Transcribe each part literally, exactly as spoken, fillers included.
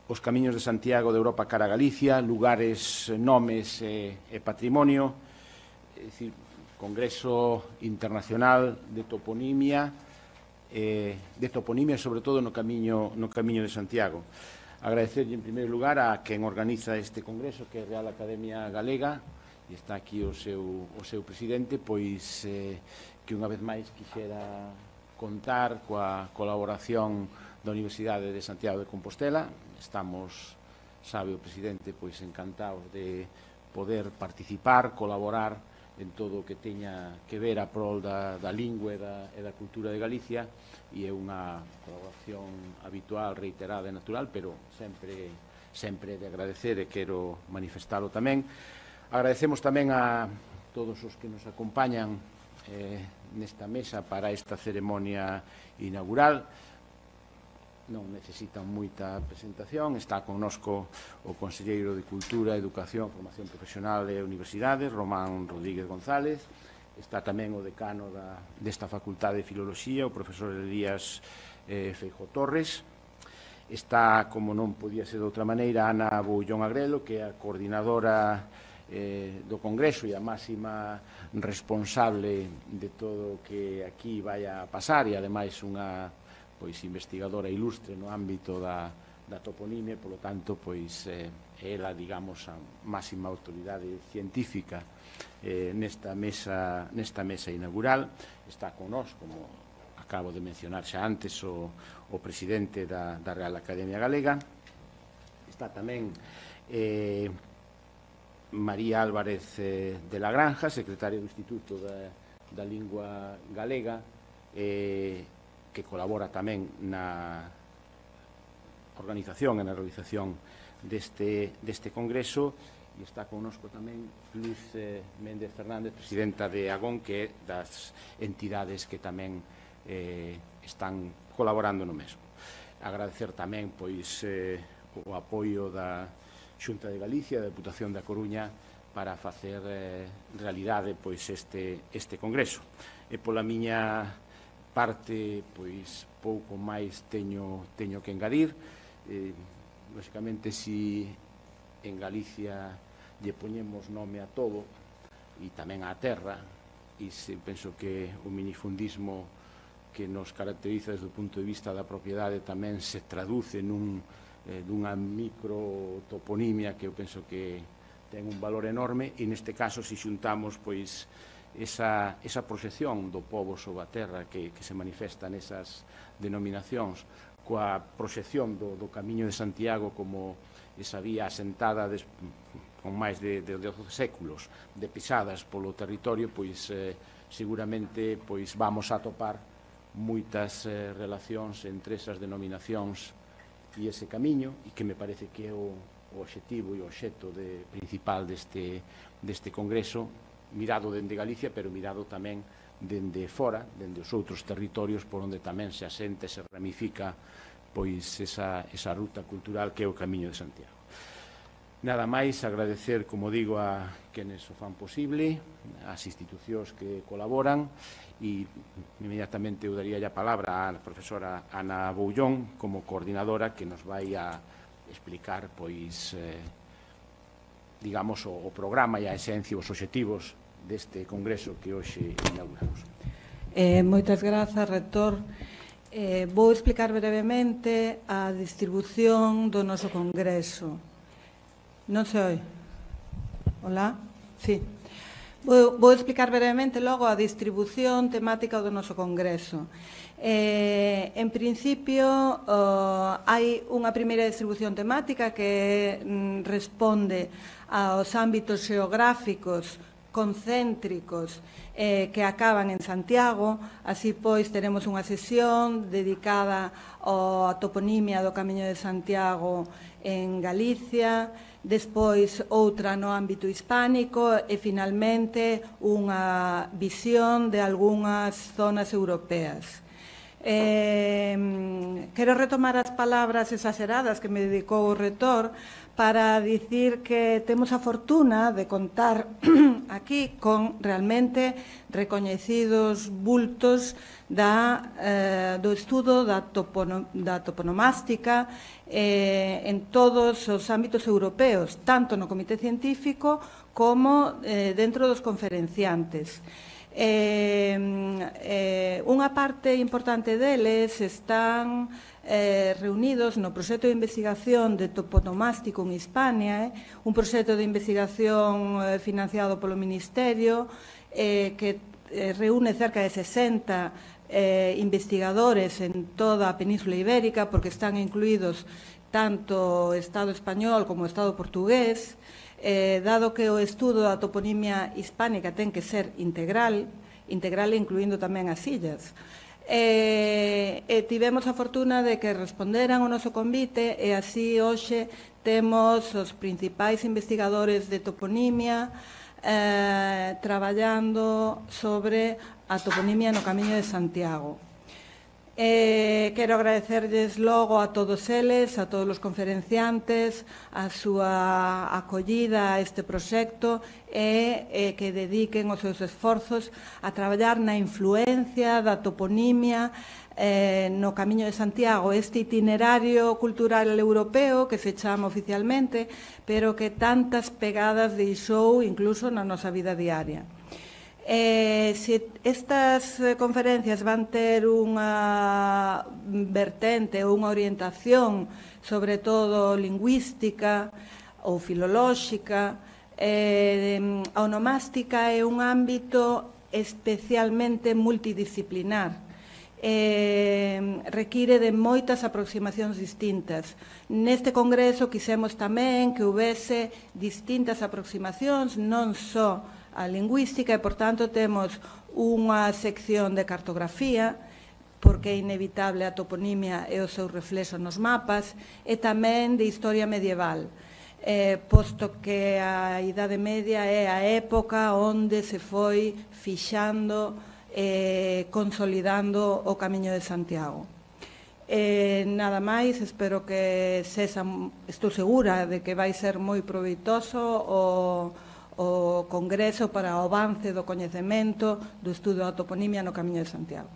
os camiños de Santiago de Europa cara a Galicia, lugares, nomes e, e patrimonio, é dicir, Congreso Internacional de Toponimia, eh, de toponimia, sobre todo no camiño, no camiño de Santiago. Agradecerlle, en primeiro lugar, a quen organiza este congreso, que é a Real Academia Galega, e está aquí o seu, o seu presidente, pois eh, que unha vez máis quixera contar coa colaboración da Universidade de Santiago de Compostela. Estamos, sabe o presidente, pois encantados de poder participar, colaborar en todo o que teña que ver a prol da, da lingua e da, e da cultura de Galicia, e é unha colaboración habitual, reiterada e natural, pero sempre, sempre de agradecer, e quero manifestalo tamén. Agradecemos tamén a todos os que nos acompañan eh, nesta mesa para esta ceremonia inaugural. Non necesitan moita presentación. Está connosco o Conselleiro de Cultura, Educación, Formación Profesional e Universidades, Román Rodríguez González. Está tamén o decano da, desta Facultade de Filoloxía, o profesor Elías eh, Feijóo Torres. Está, como non podía ser de outra maneira, Ana Boullón Agrelo, que é a coordinadora eh, do Congreso e a máxima responsable de todo o que aquí vai a pasar, e ademais unha pois investigadora ilustre no ámbito da, da toponimia, polo tanto, pois eh, ela, digamos, a máxima autoridade científica eh, nesta mesa nesta mesa inaugural. Está con nós, como acabo de mencionar xa antes, o, o presidente da, da Real Academia Galega. Está tamén eh, María Álvarez eh, de la Granja, secretaria do Instituto da, da Lingua Galega, eh, que colabora tamén na organización e na realización deste, deste congreso, e está connosco tamén Luz eh, Méndez Fernández, presidenta de Agón, que é das entidades que tamén eh, están colaborando no mesmo. Agradecer tamén pois eh, o apoio da Xunta de Galicia, da Deputación da Coruña, para facer eh, realidade pois este, este congreso. E pola miña parte, pois, pouco máis teño, teño que engadir. Eh, lógicamente, si en Galicia lle poñemos nome a todo, e tamén á terra, e se penso que o minifundismo que nos caracteriza desde o punto de vista da propiedade tamén se traduce nun, eh, dunha microtoponimia que eu penso que ten un valor enorme, e neste caso, se xuntamos, pois, Esa, esa proxección do pobo sobre a terra que, que se manifesta nesas denominacións, coa proxección do, do Camiño de Santiago como esa vía asentada des, con máis de, de doce séculos de pisadas polo territorio, pois eh, seguramente pois vamos a topar moitas eh, relacións entre esas denominacións e ese camiño, e que me parece que é o, o obxectivo e o obxecto de, principal deste, deste congreso, mirado dende Galicia, pero mirado tamén dende fora, dende os outros territorios por onde tamén se asenta e se ramifica pois esa, esa ruta cultural que é o Camiño de Santiago. Nada máis, agradecer, como digo, a quenes o fan posible, as institucións que colaboran, e inmediatamente eu daría a palabra á profesora Ana Boullón como coordinadora, que nos vai a explicar, pois, eh, digamos, o, o programa e a esencia, os obxectivos deste congreso que hoxe inauguramos. Eh, moitas grazas, rector. Eh, vou explicar brevemente a distribución do noso congreso. Non se oi? Hola? Sí. Vou, vou explicar brevemente logo a distribución temática do noso congreso. Eh, en principio, oh, hai unha primeira distribución temática que mm, responde aos ámbitos xeográficos concéntricos eh, que acaban en Santiago. Así, pois, teremos unha sesión dedicada á toponimia do Camiño de Santiago en Galicia, despois outra no ámbito hispánico e, finalmente, unha visión de algunhas zonas europeas. Eh, quero retomar as palabras exageradas que me dedicou o rector para dicir que temos a fortuna de contar aquí con realmente recoñecidos bultos da, eh, do estudo da, topono, da toponomástica eh, en todos os ámbitos europeos, tanto no comité científico como eh, dentro dos conferenciantes. Eh, eh, unha parte importante deles están eh, reunidos no proxecto de investigación de toponomástico en Hispania, eh, un proxecto de investigación eh, financiado polo Ministerio eh, que eh, reúne cerca de sesenta eh, investigadores en toda a Península Ibérica, porque están incluídos tanto o Estado español como o Estado portugués. Eh, dado que o estudo da toponimia hispánica ten que ser integral, integral incluindo tamén as illas. Eh, e tivemos a fortuna de que responderan o noso convite e así hoxe temos os principais investigadores de toponimia eh, traballando sobre a toponimia no Camiño de Santiago. Eh, quero agradecerles logo a todos eles, a todos os conferenciantes, a súa acollida a este proxecto e eh, que dediquen os seus esforzos a traballar na influencia da toponimia eh, no Camiño de Santiago, este itinerario cultural europeo que se chama oficialmente, pero que tantas pegadas deixou incluso na nosa vida diaria. Eh, se estas eh, conferencias van ter unha vertente ou unha orientación sobre todo lingüística ou filolóxica, eh, a onomástica é un ámbito especialmente multidisciplinar. Eh, require de moitas aproximacións distintas. Neste congreso quisemos tamén que houvese distintas aproximacións, non só a lingüística, e, por tanto, temos unha sección de cartografía, porque é inevitable a toponimia e o seu reflexo nos mapas, e tamén de historia medieval, eh, posto que a Idade Media é a época onde se foi fixando e eh, consolidando o Camiño de Santiago. Eh, nada máis, espero que sexa, estou segura de que vai ser moi proveitoso o o Congreso para o avance do coñecemento do estudo da toponimia no Camiño de Santiago.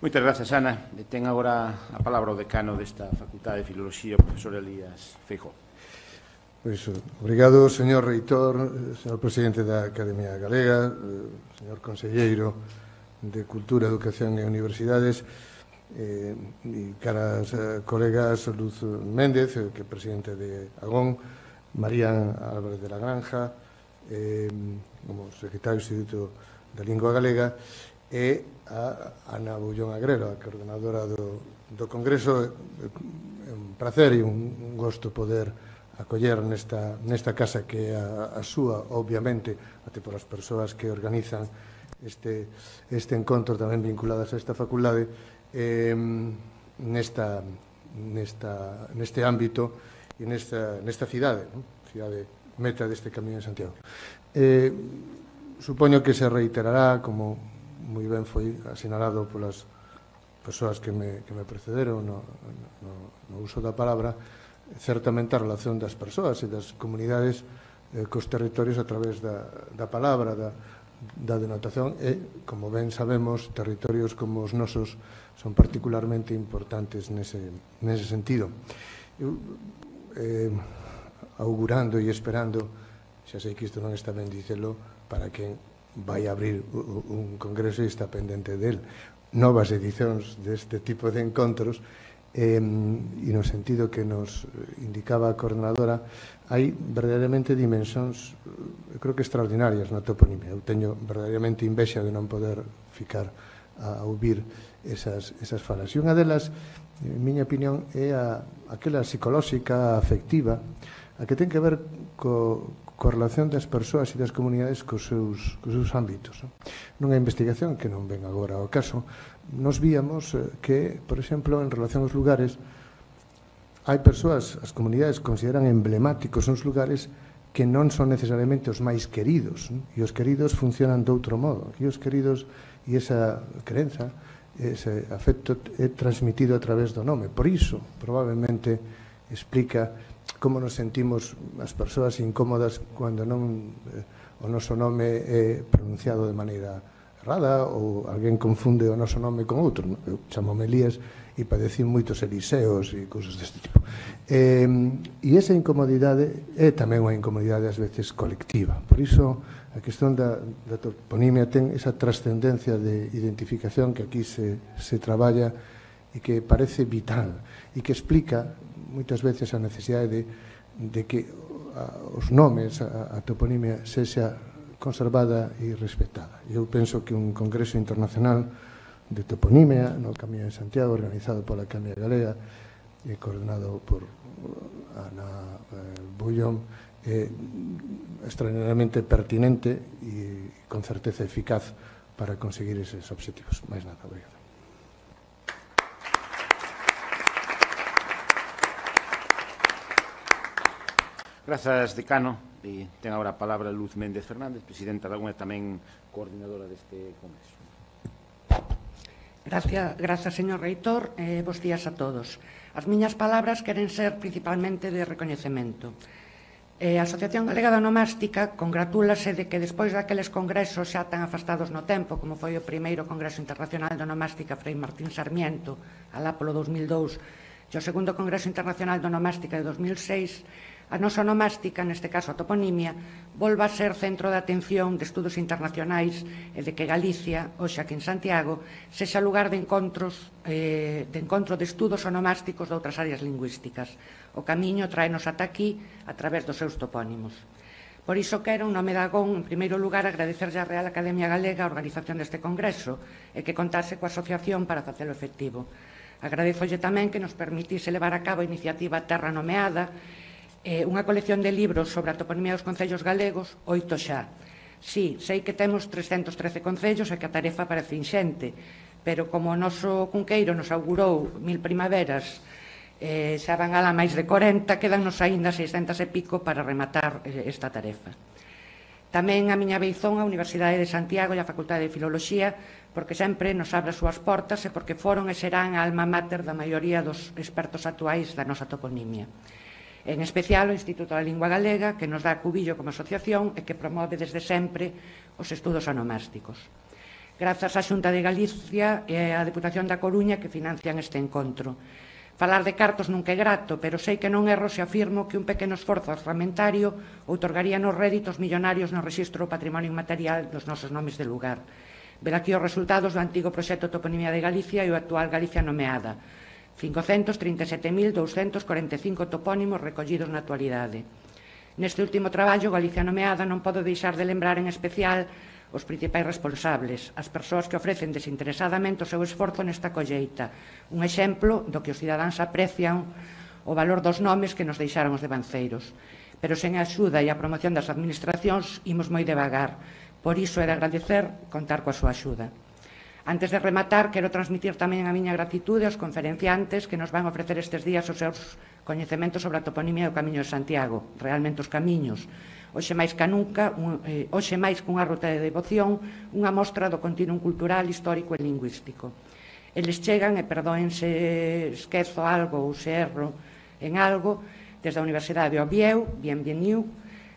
Moitas grazas, Ana. Ten agora a palabra o decano desta Facultade de Filoloxía, o profesor Elías Feijóo. Pois, obrigado, señor reitor, señor presidente da Academia Galega, señor conselleiro de Cultura, Educación e Universidades, eh, e caras eh, colegas Luz Méndez, eh, que é presidente de Agón, María Álvarez de la Granja, eh, como secretario do Instituto da Lingua Galega, e a Ana Bullón Agrero, a coordenadora do, do Congreso. É un placer e un gosto poder acoller nesta, nesta casa que é a, a súa, obviamente, até por as persoas que organizan este, este encontro tamén vinculadas a esta facultade, eh, nesta, nesta, neste ámbito e nesta, nesta cidade, ¿no? Cidade meta deste Camiño de Santiago. Eh, supoño que se reiterará, como moi ben foi asinalado polas persoas que me, que me precederon no, no, no uso da palabra, certamente a relación das persoas e das comunidades eh, cos territorios a través da, da palabra, da, da denotación, e, como ben sabemos, territorios como os nosos son particularmente importantes nese, nese sentido. Eu, eh, augurando e esperando, xa sei que isto non está ben dicelo, para que vai abrir un congreso e está pendente del, novas edicións deste tipo de encontros, eh, e no sentido que nos indicaba a coordenadora, hai verdadeiramente dimensións, eu creo que extraordinarias na toponimia. Eu teño verdadeiramente invexa de non poder ficar a ouvir esas, esas falas. E unha delas, en miña opinión, é a, aquela psicolóxica, afectiva, a que ten que ver co, coa relación das persoas e das comunidades cos seus, cos seus ámbitos. Nunha investigación que non ven agora ao caso, nos víamos que, por exemplo, en relación aos lugares, hai persoas, as comunidades consideran emblemáticos uns lugares que non son necesariamente os máis queridos, e os queridos funcionan de outro modo, e os queridos e esa crenza ese afecto é transmitido a través do nome. Por iso, probablemente, explica como nos sentimos as persoas incómodas cando non o noso nome é pronunciado de maneira errada ou alguén confunde o noso nome con outro. Eu chamome Elías e padecín moitos Eliseos e cousas deste tipo. E, e esa incomodidade é tamén unha incomodidade ás veces colectiva. Por iso a cuestión da, da toponimia ten esa trascendencia de identificación que aquí se, se traballa e que parece vital e que explica moitas veces a necesidade de, de que a, os nomes, a, a toponimia sexa conservada e respetada. Eu penso que un congreso internacional de toponimia no Camiño de Santiago, organizado pola Academia Galega e coordenado por Ana eh, Bullón, é extraordinariamente pertinente e con certeza eficaz para conseguir eses obxectivos. Mais nada, obrigado. Grazas, decano. E ten agora a palabra Luz Méndez Fernández, presidenta da U N E, tamén coordinadora deste congreso. Gracias, gracias, señor reitor. Eh, bos días a todos. As miñas palabras queren ser principalmente de recoñecemento. Eh, a Asociación Galega da Onomástica congratúlase de que despois daqueles congresos xa tan afastados no tempo, como foi o primeiro Congreso Internacional de Onomástica Frei Martín Sarmiento, alá polo dos mil dous, e o segundo Congreso Internacional de Onomástica de dos mil seis, a nosa onomástica, neste caso a toponimia, volva a ser centro de atención de estudos internacionais e de que Galicia, hoxe aquí en Santiago, sexa lugar de encontros eh, de encontro de estudos onomásticos de outras áreas lingüísticas. O camiño traenos ata aquí a través dos seus topónimos. Por iso quero, en nome da G O N, en primeiro lugar, agradecerlle á Real Academia Galega a organización deste congreso e que contase coa asociación para facelo efectivo. Agradezolle tamén que nos permitise levar a cabo a iniciativa Terra Nomeada, Eh, unha colección de libros sobre a toponimia dos concellos galegos, oito xa. Sí, sei que temos trescentos trece concellos e que a tarefa parece inxente, pero como o noso Cunqueiro nos augurou mil primaveras, eh, xa van alá máis de corenta, quedannos aínda seiscentos e pico para rematar eh, esta tarefa. Tamén a miña beizón a Universidade de Santiago e a Facultade de Filoloxía, porque sempre nos abre as súas portas e porque foron e serán a alma mater da maioría dos expertos actuais da nosa toponimia. En especial o Instituto da Lingua Galega, que nos dá cubillo como asociación e que promove desde sempre os estudos onomásticos. Grazas á Xunta de Galicia e á Deputación da Coruña que financian este encontro. Falar de cartos nunca é grato, pero sei que non erro se afirmo que un pequeno esforzo orzamentario outorgaría nos réditos millonarios no rexistro do patrimonio inmaterial dos nosos nomes de lugar. Ver aquí os resultados do antigo proxecto Toponimia de Galicia e o actual Galicia Nomeada. cincocentos trinta e sete mil douscentos corenta e cinco topónimos recollidos na actualidade. Neste último traballo, Galicia Nomeada, non podo deixar de lembrar en especial os principais responsables, as persoas que ofrecen desinteresadamente o seu esforzo nesta colleita, un exemplo do que os cidadáns aprecian o valor dos nomes que nos deixaron os devanceiros. Pero sen a axuda e a promoción das administracións imos moi devagar, por iso é de agradecer contar coa súa axuda. Antes de rematar, quero transmitir tamén a miña gratitude aos conferenciantes que nos van ofrecer estes días os seus coñecementos sobre a toponimia do Camiño de Santiago, realmente os camiños. Hoxe máis que nunca, un, eh, hoxe máis que unha ruta de devoción, unha mostra do continuum cultural, histórico e lingüístico. Eles chegan, e perdoen se esquezo algo ou se erro en algo, desde a Universidade de Oviedo, bienveniu,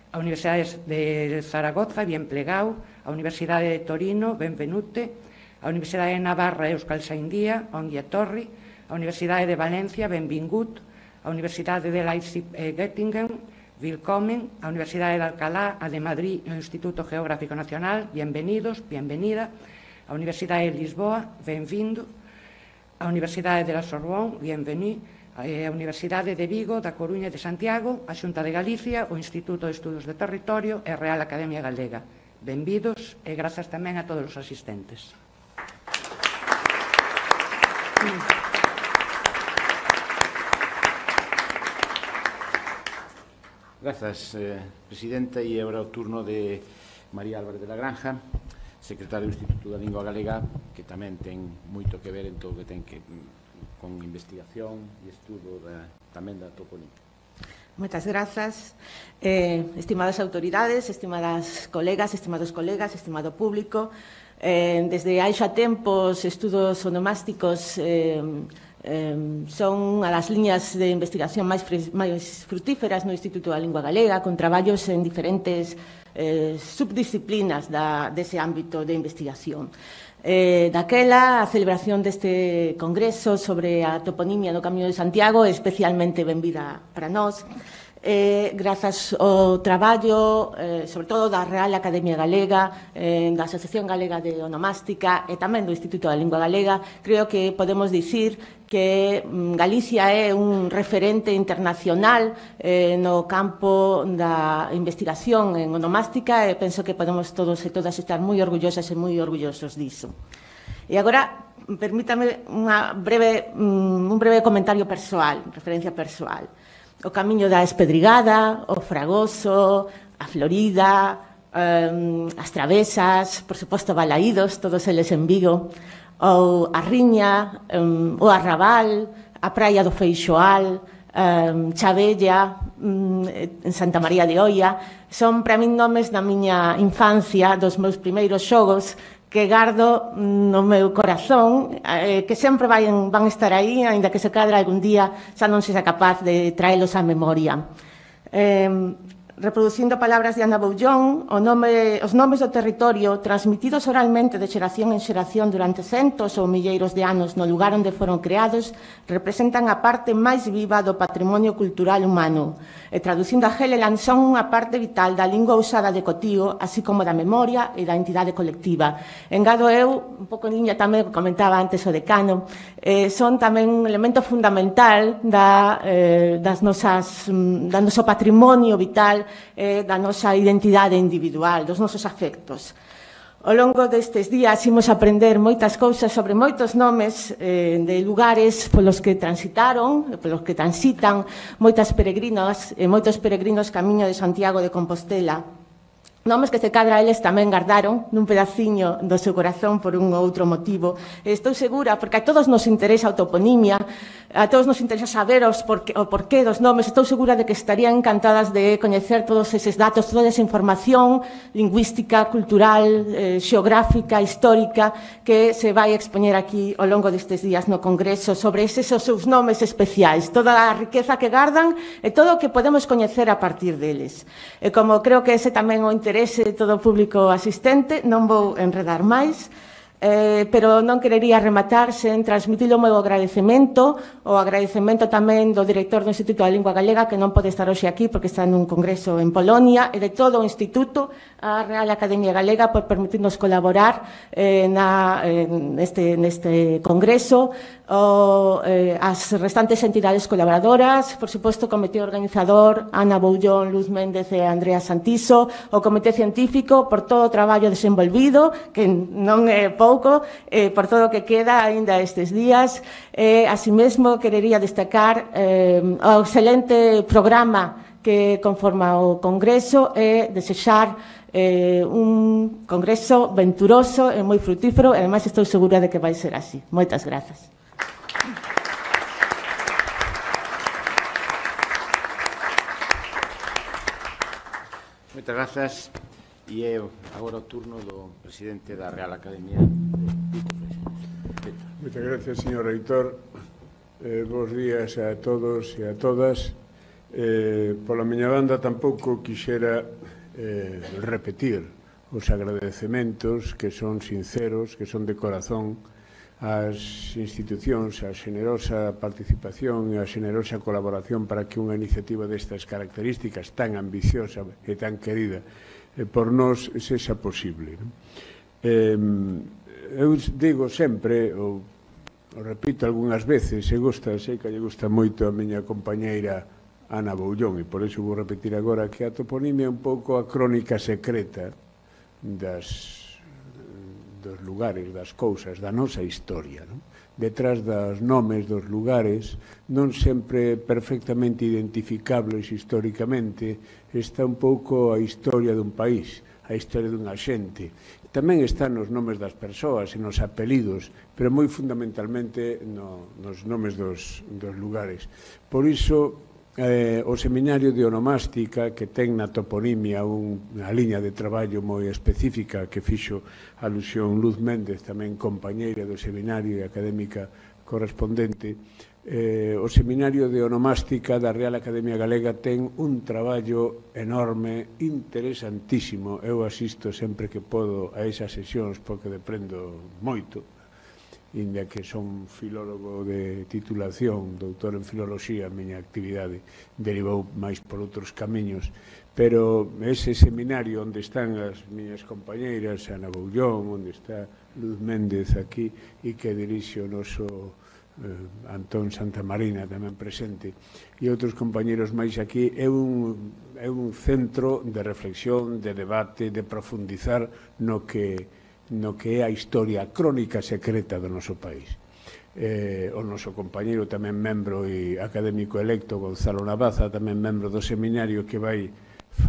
a Universidade de Zaragoza, bien plegau, a Universidade de Torino, benvenute, a Universidade de Navarra, Euskal Saindía, ongi etorri, a Universidade de Valencia, benvingut, a Universidade de Leipzig e Göttingen, willkommen, a Universidade de Alcalá, a de Madrid e o Instituto Geográfico Nacional, bienvenidos, bienvenida, a Universidade de Lisboa, benvindo, a Universidade de la Sorbonne, bienvení, a Universidade de Vigo, da Coruña e de Santiago, a Xunta de Galicia, o Instituto de Estudos de Territorio e a Real Academia Galega. Benvidos e grazas tamén a todos os asistentes. Grazas, eh, presidenta, e agora o turno de María Álvarez de la Granja, secretaria do Instituto da Lingua Galega, que tamén ten moito que ver en todo o que ten que con investigación e estudo da, tamén da toponimia. Moitas grazas. Eh, estimadas autoridades, estimadas colegas, estimados colegas, estimado público, eh, desde hai xa tempos estudos onomásticos eh, eh, son unha das liñas de investigación máis, máis frutíferas no Instituto da Lingua Galega, con traballos en diferentes eh, subdisciplinas da, dese ámbito de investigación. Eh, daquela, a celebración deste congreso sobre a toponimia do Camiño de Santiago é especialmente benvida para nós, eh, grazas ao traballo, eh, sobre todo da Real Academia Galega, eh, da Asociación Galega de Onomástica e tamén do Instituto da Lingua Galega. Creo que podemos dicir que mm, Galicia é un referente internacional eh, no campo da investigación en onomástica e penso que podemos todos e todas estar moi orgullosas e moi orgullosos diso. E agora, permítame unha breve, mm, un breve comentario persoal, referencia persoal. O Camiño da Espedrigada, o Fragoso, a Florida, um, as Travesas, por suposto Balaídos, todos eles en Vigo, ou a Riña, um, o Arrabal, a Praia do Feixoal, um, Chabella, um, en Santa María de Oia, son para min nomes da miña infancia, dos meus primeiros xogos, que gardo no meu corazón, eh, que sempre van, van estar aí, aínda que se cadra algún día xa non sexa capaz de traelos á memoria. Eh, reproducindo palabras de Ana Boullón, o nome, os nomes do territorio transmitidos oralmente de xeración en xeración durante centos ou milleiros de anos no lugar onde foron creados representan a parte máis viva do patrimonio cultural humano e traducindo a Heleland son unha parte vital da lingua usada de cotío, así como da memoria e da entidade colectiva. Engado eu, un pouco en liña tamén que comentaba antes o decano, eh, son tamén un elemento fundamental da, eh, das nosas, da noso patrimonio vital, eh, da nosa identidade individual, dos nosos afectos. Ao longo destes días imos aprender moitas cousas sobre moitos nomes eh, de lugares polos que transitaron, polos que transitan moitas peregrinas e moitos peregrinos camiño de Santiago de Compostela. Nomes que se cadra eles tamén gardaron nun pedaciño do seu corazón por un ou outro motivo. Estou segura, porque a todos nos interesa a toponimia, a todos nos interesa saber os porqué, o porqué dos nomes, estou segura de que estarían encantadas de coñecer todos eses datos, toda esa información lingüística, cultural, eh, xeográfica, histórica, que se vai expoñer aquí ao longo destes días no Congreso sobre eses os seus nomes especiais, toda a riqueza que gardan e todo o que podemos coñecer a partir deles. E como creo que ese tamén o interese de todo o público asistente, non vou enredar máis, eh, pero non querería rematar sen transmitir o meu agradecemento, o agradecemento tamén do director do Instituto da Lingua Galega, que non pode estar hoxe aquí porque está nun congreso en Polonia, e de todo o Instituto, a Real Academia Galega, por permitirnos colaborar eh, na, eh, neste, neste congreso, o, eh, as restantes entidades colaboradoras, por suposto o comité organizador, Ana Boullón, Luz Méndez e Andrea Santiso, o comité científico, por todo o traballo desenvolvido, que non é pouco, eh, por todo o que queda aínda estes días. Eh, así mesmo, querería destacar eh, o excelente programa que conforma o Congreso e desexar eh, un congreso venturoso e moi frutífero, e ademais estou segura de que vai ser así. Moitas grazas. Moitas grazas. E é agora o turno do presidente da Real Academia de... Moitas gracias, señor reitor. Eh, bos días a todos e a todas. Eh, pola miña banda tampouco quixera eh, repetir os agradecementos que son sinceros, que son de corazón ás institucións, a xenerosa participación e a xenerosa colaboración para que unha iniciativa destas características tan ambiciosa e tan querida eh, por nós sexa posible. Eh, eu digo sempre, ou, o repito algunhas veces, se gusta, sei que lle gusta moito a miña compañeira Ana Boullón, e por iso vou repetir agora que a toponimia é un pouco a crónica secreta das, dos lugares, das cousas, da nosa historia, non? Detrás dos nomes dos lugares, non sempre perfectamente identificables históricamente, está un pouco a historia dun país, a historia dunha xente. Tamén están nos nomes das persoas e nos apelidos, pero moi fundamentalmente no, nos nomes dos, dos lugares. Por iso, eh, o Seminario de Onomástica, que ten na toponimia unha liña de traballo moi específica que fixo alusión Luz Méndez, tamén compañeira do seminario e académica correspondente. Eh, o Seminario de Onomástica da Real Academia Galega ten un traballo enorme, interesantísimo. Eu asisto sempre que podo a esas sesións porque deprendo moito, inda que son filólogo de titulación, doutor en filoloxía, a miña actividade derivou máis por outros camiños, pero ese seminario onde están as miñas compañeiras, Ana Boullón, onde está Luz Méndez aquí, e que dirixe o noso eh, Antón Santamarina tamén presente, e outros compañeros máis aquí, é un, é un centro de reflexión, de debate, de profundizar no que no que é a historia crónica secreta do noso país. Eh, o noso compañeiro tamén membro e académico electo, Gonzalo Navaza, tamén membro do seminario que vai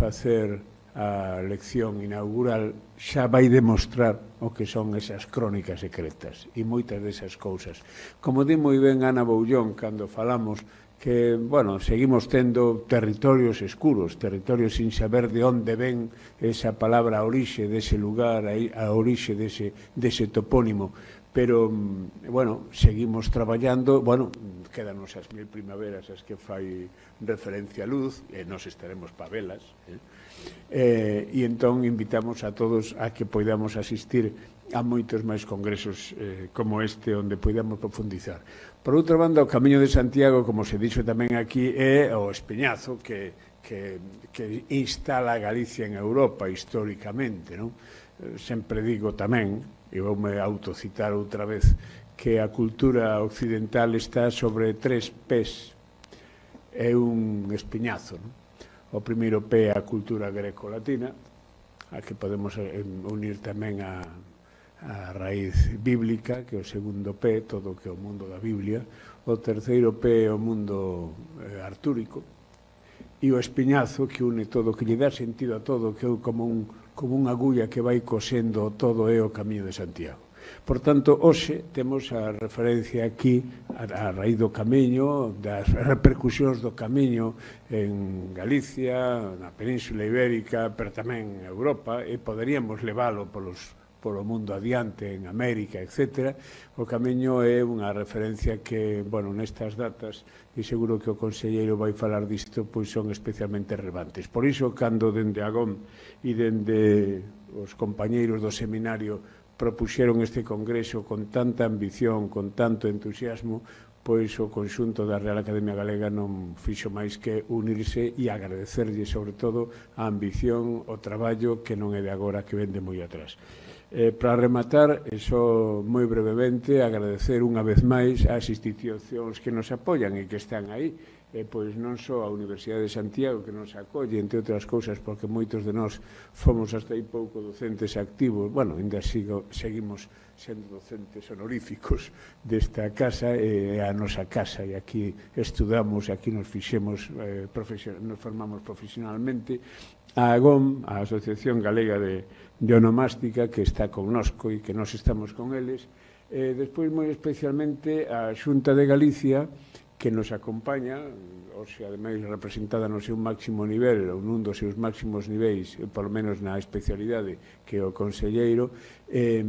facer a lección inaugural, xa vai demostrar o que son esas crónicas secretas e moitas desas cousas. Como di moi ben Ana Boullón cando falamos que, bueno, seguimos tendo territorios escuros, territorios sin saber de onde ven esa palabra a orixe dese lugar, a orixe dese, dese topónimo, pero, bueno, seguimos traballando, bueno, quedanos as mil primaveras as que fai referencia a Luz, e nos estaremos pa velas, eh? Eh, e entón invitamos a todos a que poidamos asistir a moitos máis congresos eh, como este, onde poidamos profundizar. Por outra banda, o Camiño de Santiago, como se dixo tamén aquí, é o espeñazo que, que, que instala a Galicia en Europa históricamente, non? Sempre digo tamén, e voume autocitar outra vez, que a cultura occidental está sobre tres pés. É un espeñazo, non? O primeiro pé é a cultura greco-latina, a que podemos unir tamén a a raíz bíblica, que é o segundo pé, todo o que é o mundo da Biblia. O terceiro pé é o mundo eh, artúrico, e o espiñazo que une todo, que lle dá sentido a todo, que é como, un, como unha agulla que vai cosendo todo, é o Camiño de Santiago. Por tanto, hoxe temos a referencia aquí a, a raíz do Camiño, das repercusións do Camiño en Galicia, na Península Ibérica, pero tamén en Europa, e poderíamos leválo polos polo mundo adiante, en América, etcétera. O Camiño é unha referencia que, bueno, nestas datas, e seguro que o conselleiro vai falar disto, pois son especialmente relevantes. Por iso, cando dende Agón e dende os compañeiros do seminario propuxeron este congreso con tanta ambición, con tanto entusiasmo, pois o conxunto da Real Academia Galega non fixo máis que unirse e agradecerlle, sobre todo, a ambición, o traballo que non é de agora, que vende moi atrás. Eh, para rematar, e só moi brevemente, agradecer unha vez máis ás institucións que nos apoian e que están aí, eh, pois non só a Universidade de Santiago, que nos acolle, entre outras cousas, porque moitos de nós fomos hasta aí pouco docentes activos, bueno, ainda sigo, seguimos sendo docentes honoríficos desta casa, e eh, a nosa casa, e aquí estudamos, e aquí nos fixemos, eh, nos formamos profesionalmente. A AGOM, a Asociación Galega de, de Onomástica, que está connosco e que nós estamos con eles. Eh, despois, moi especialmente, a Xunta de Galicia, que nos acompaña, hoxe, ademais, representada no seu máximo nivel, ou nun dos seus máximos niveis, polo menos na especialidade, que é o conselleiro, eh,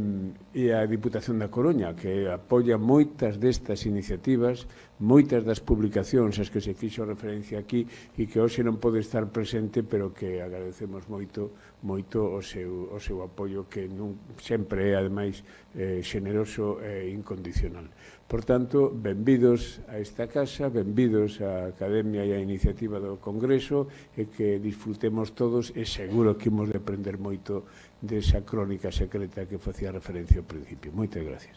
e a Diputación da Coruña, que apoia moitas destas iniciativas, moitas das publicacións as que se fixo referencia aquí, e que hoxe non pode estar presente, pero que agradecemos moito, moito o seu, o seu apoio, que non, sempre é, ademais, eh, xeneroso e incondicional. Por tanto, benvidos a esta casa, benvidos á Academia e á iniciativa do Congreso, e que disfrutemos todos, e seguro que imos de aprender moito desa crónica secreta que facía referencia ao principio. Moitas gracias.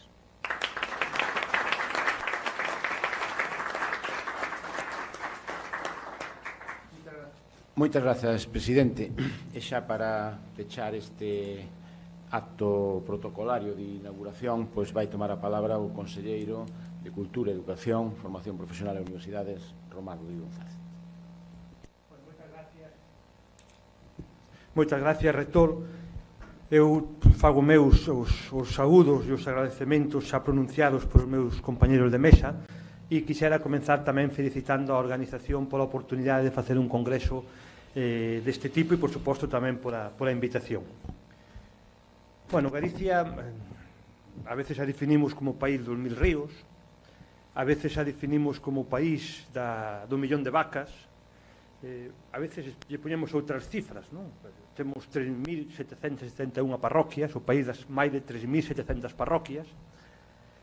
Moitas grazas, presidente. E xa para pechar este acto protocolario de inauguración, pois vai tomar a palabra o conselleiro de Cultura, Educación, Formación Profesional e Universidades, Román Rodríguez González. Moitas gracias. Moitas gracias, rector. Eu fago meus os, os saúdos e os agradecementos xa pronunciados por os meus compañeros de mesa, e quixera comenzar tamén felicitando a organización pola oportunidade de facer un congreso eh, deste tipo e, por suposto, tamén pola, pola invitación. Bueno, Galicia a veces a definimos como país dos mil ríos, a veces a definimos como país da, do millón de vacas, eh, a veces lle poñemos outras cifras, non? Temos tres mil setecentas setenta e unha parroquias, o país das máis de tres mil setecentas parroquias,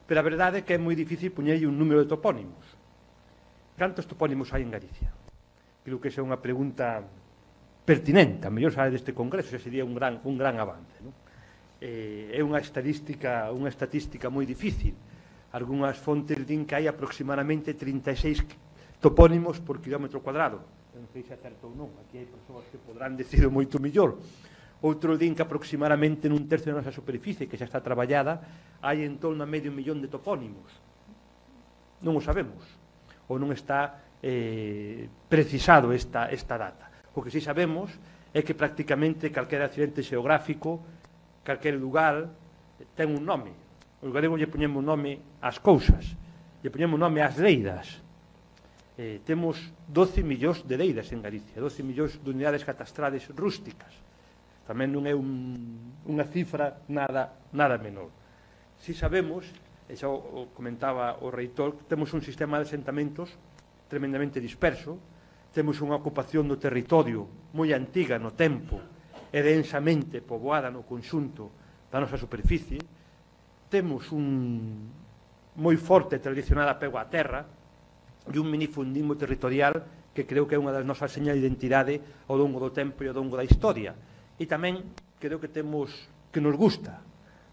pero a verdade é que é moi difícil poñerlle un número de topónimos. Cantos topónimos hai en Galicia? Creo que esa é unha pregunta pertinente, a mellor sabe deste congreso, ese sería un gran, un gran avance, non? Eh, é unha estadística, unha estatística moi difícil. Algúnas fontes din que hai aproximadamente trinta e seis topónimos por kilómetro cuadrado. Non sei se é certo ou non, aquí hai persoas que podrán decir moito millor. Outro din que aproximadamente nun tercio da nosa superficie, que xa está traballada, hai en torno a medio millón de topónimos. Non o sabemos, ou non está eh, precisado esta, esta data. O que sí sabemos é que prácticamente calquera accidente xeográfico, calquer lugar, ten un nome. Os galegos lle poñemos nome ás cousas, lle poñemos nome ás leiras. Eh, temos doce millóns de leiras en Galicia, doce millóns de unidades catastrales rústicas. Tamén non é un, unha cifra nada, nada menor. Si sabemos, e xa o comentaba o reitor, temos un sistema de asentamentos tremendamente disperso, temos unha ocupación do territorio moi antiga no tempo e densamente poboada no conxunto da nosa superficie, temos un moi forte tradicional apego á terra, e un minifundismo territorial que creo que é unha das nosas señas de identidade ao longo do tempo e ao longo da historia. E tamén creo que temos que nos gusta,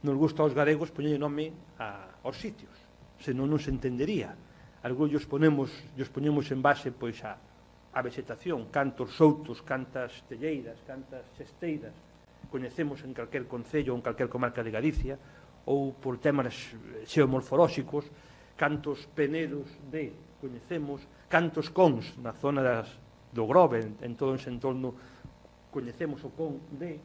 nos gusta aos galegos poñerlle nome a, aos sitios, senón non se entendería. Algúns os ponemos, os ponemos en base pois a, a vegetación, cantos soutos, cantas telleiras, cantas xesteiras coñecemos en calquer concello ou en calquer comarca de Galicia, ou por temas xeomorfolóxicos, cantos penedos de coñecemos, cantos cons na zona das, do Grove, en, en todo ese entorno coñecemos o con de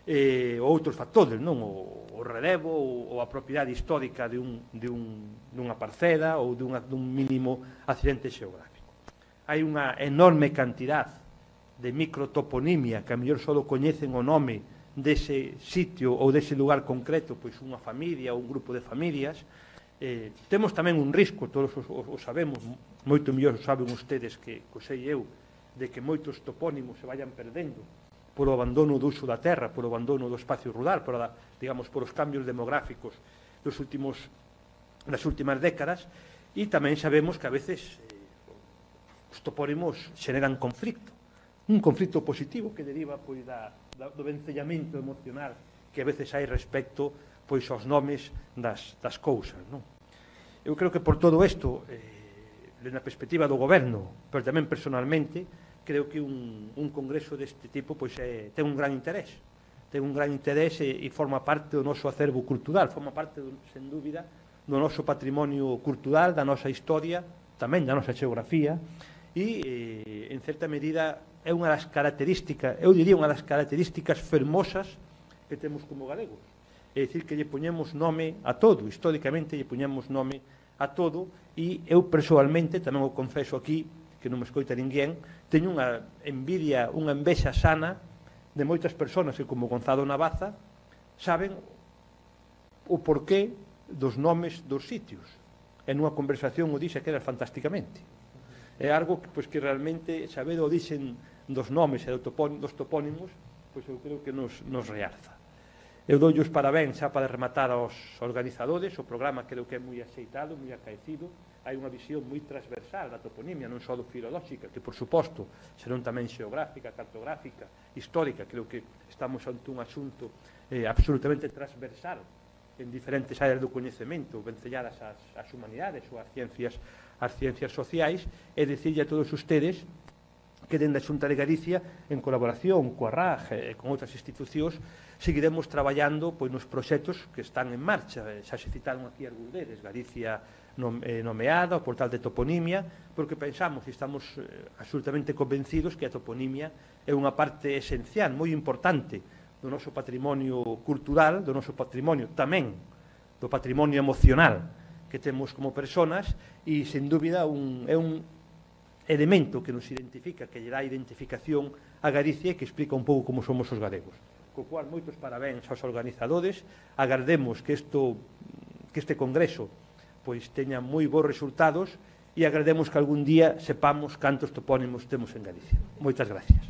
eh, outros factores, non? O, o relevo ou, ou a propiedade histórica de un, de un, dunha parcela ou dunha, dun mínimo accidente xeográfico. Hai unha enorme cantidad de microtoponimia que a mellor só coñecen o nome dese sitio ou dese lugar concreto, pois unha familia ou un grupo de familias. Eh, temos tamén un risco, todos os, os, os sabemos, moito mellor saben ustedes que, que sei eu, de que moitos topónimos se vayan perdendo polo abandono do uso da terra, polo abandono do espacio rural, por, digamos, por os cambios demográficos dos últimos, das últimas décadas, e tamén sabemos que a veces eh, os topónimos xeneran conflicto, un conflicto positivo que deriva pois, da, da, do vencellamento emocional que a veces hai respecto pois aos nomes das, das cousas, non? Eu creo que por todo isto, eh, na perspectiva do goberno, pero tamén personalmente, creo que un, un congreso deste tipo pois, é, ten un gran interés, ten un gran interés e, e forma parte do noso acervo cultural, forma parte, sen dúbida, do noso patrimonio cultural, da nosa historia, tamén da nosa xeografía, e, eh, en certa medida, é unha das características, eu diría unha das características fermosas que temos como galegos. É dicir, que lle poñemos nome a todo, históricamente lle poñemos nome a todo, e eu persoalmente, tamén o confeso aquí, que non me escoita ninguén, teño unha envidia, unha envexa sana de moitas persoas que, como Gonzalo Navaza, saben o porqué dos nomes dos sitios. E nunha conversación o dixe que era fantásticamente. É algo que, pois, que realmente saber o dixen dos nomes e dos topónimos, pois eu creo que nos, nos realza. Eu dou os parabéns xa para rematar aos organizadores, o programa creo que é moi aceitado, moi acaecido, hai unha visión moi transversal da toponimia, non só do filolóxica, que por suposto, senón tamén xeográfica, cartográfica, histórica, creo que estamos ante un asunto eh, absolutamente transversal en diferentes áreas do coñecemento, vencelladas ás, ás humanidades ou ás ciencias, ás ciencias sociais, e dicirlle a todos ustedes que dende a Xunta de Galicia, en colaboración coa R A G e con outras institucións, seguiremos traballando pois, nos proxectos que están en marcha. Xa se citaron aquí algúns deles, Galicia nomeada, o portal de toponimia, porque pensamos e estamos eh, absolutamente convencidos que a toponimia é unha parte esencial, moi importante do noso patrimonio cultural, do noso patrimonio tamén, do patrimonio emocional que temos como personas e, sen dúbida, un, é un elemento que nos identifica, que lle dá identificación a Galicia e que explica un pouco como somos os galegos. Co cual, moitos parabéns aos organizadores, agardemos que, isto, que este congreso pois teña moi bons resultados e agardemos que algún día sepamos cantos topónimos temos en Galicia. Moitas gracias.